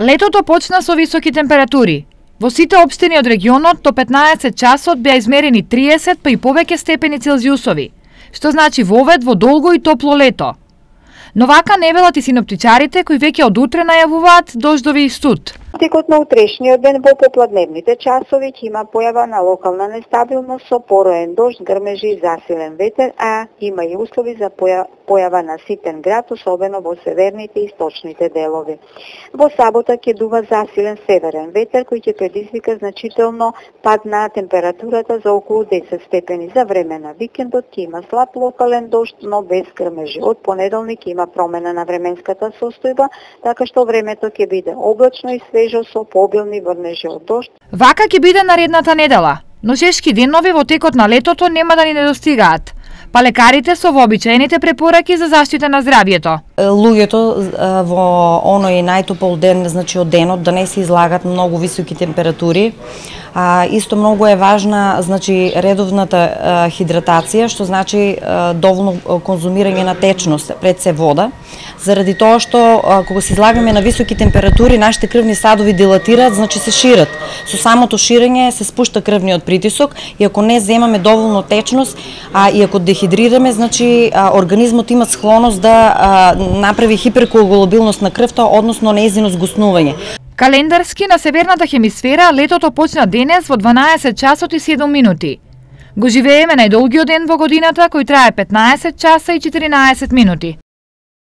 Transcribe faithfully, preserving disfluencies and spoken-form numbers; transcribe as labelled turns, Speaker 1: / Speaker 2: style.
Speaker 1: Летото почна со високи температури. Во сите општини од регионот до петнаесет часот беа измерени триесет па и повеќе степени Целзиусови, што значи вовед во долго и топло лето. Но вака не велат и синоптичарите кои веќе од утре најавуваат дождови и студ.
Speaker 2: Текот на утрешниот ден во попладневните часови ќе има појава на локална нестабилност со пороен дожд, грмежи и засилен ветер, а има и услови за појава на ситен град, особено во северните и источните делови. Во сабота ќе дува засилен северен ветер кој ќе предизвика значително пад на температурата за околу десет степени. За време на викендот ќе има слаб локален дожд, но без грмежи. Од понеделник ќе има промена на временската состојба, така што времето ќе биде облачно и свежо со пообилни врнежи од дожд.
Speaker 1: Вака ќе биде наредната недела, но жешки денови во текот на летото нема да ни недостигаат. Па лекарите со вообичаените препораки за заштита на здравјето.
Speaker 3: Луѓето во оној најтопол ден, значи од денот, да не се излагат многу високи температури. А, исто многу е важна, значи, редовната а, хидратација, што значи а, доволно конзумирање на течност, пред се вода, заради тоа што а, кога се излагаме на високи температури, нашите крвни садови дилатираат, значи се шират. Со самото ширење се спушта крвниот притисок и ако не земаме доволно течност, а и ако дехидрираме, значи а, организмот има склоност да а, направи хиперкоагулабилност на крвта, односно нејзино згуснување.
Speaker 1: Календарски на северната хемисфера летото почна денес во дванаесет часот и седум минути. Го живееме најдолгиот ден во годината кој трае петнаесет часа и четиринаесет минути.